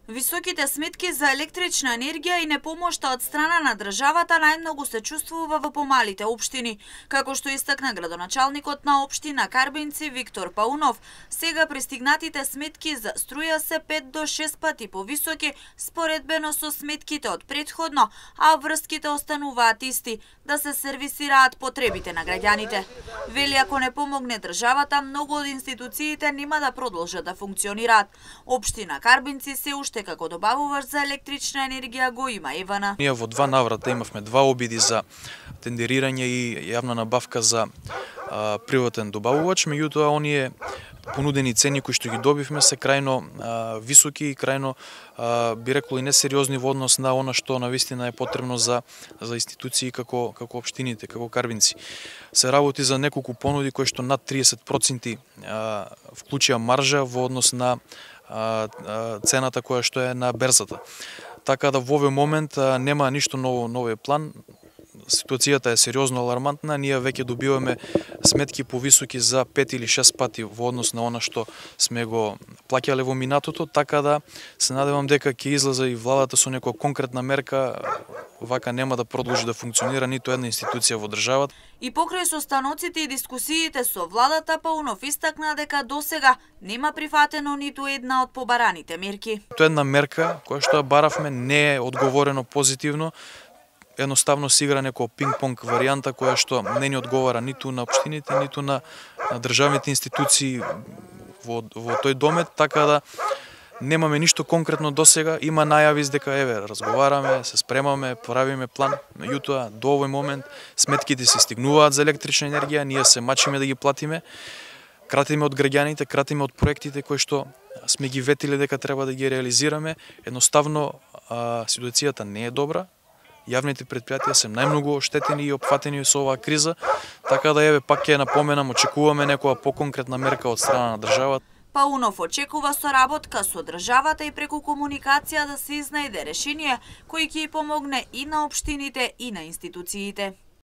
Високите сметки за електрична енергија и непомошта од страна на државата најмногу се чувствува во помалите општини. Како што истакна градоначалникот на општина Карбинци Виктор Паунов, сега пристигнатите сметки за струја се 5 до 6 пати повисоки споредбено со сметките од претходно, а врските остануваат исти, да се сервисираат потребите на граѓаните. Вели, ако не помогне државата, многу од институциите нема да продолжат да функционираат. Општина Карбинци се уште како добавувач за електрична енергија го има Евана. Ние во два наврата имавме два обиди за тендерирање и јавна набавка за приватен добавувач, меѓутоа оние понудени цени кои што ги добивме се крајно високи и крајно би рекол и несериозни во однос на она што навистина е потребно за институции како општините, како Карбинци. Се работи за неколку понуди кои што над 30% вклучија маржа во однос на цената која што е на берзата. Така да во овој момент нема ништо нови план. Ситуацијата е сериозно алармантна, ние веќе добиваме сметки повисоки за 5 или 6 пати во однос на она што сме го плаќале во минатото, така да се надевам дека ќе излезе и владата со некоја конкретна мерка, вака нема да продолжи да функционира ниту една институција во државата. И покрај состаноците и дискусиите со владата, Паунов истакна дека досега нема прифатено ниту една од побараните мерки. Тоа една мерка која што ја баравме не е одговорено позитивно. Едноставно се игра некоја пинг-понг варијанта која што не ни одговара ниту на општините, ниту на државните институции во тој домет, така да немаме ништо конкретно досега. Има најави дека еве разговараме, се спремаме, правиме план, меѓутоа до овој момент сметките се стигнуваат за електрична енергија, ние се мачиме да ги платиме, кратиме од граѓаните, кратиме од проектите кои што сме ги ветиле дека треба да ги реализираме. Едноставно ситуацијата не е добра. Јавните претпријатија се најмногу оштетени и опфатени со оваа криза, така да еве пак ќе напоменам, очекуваме некоја поконкретна мерка од страна на државата. Паунов очекува соработка со државата и преку комуникација да се изнајде решение кој ќе помогне и на општините и на институциите.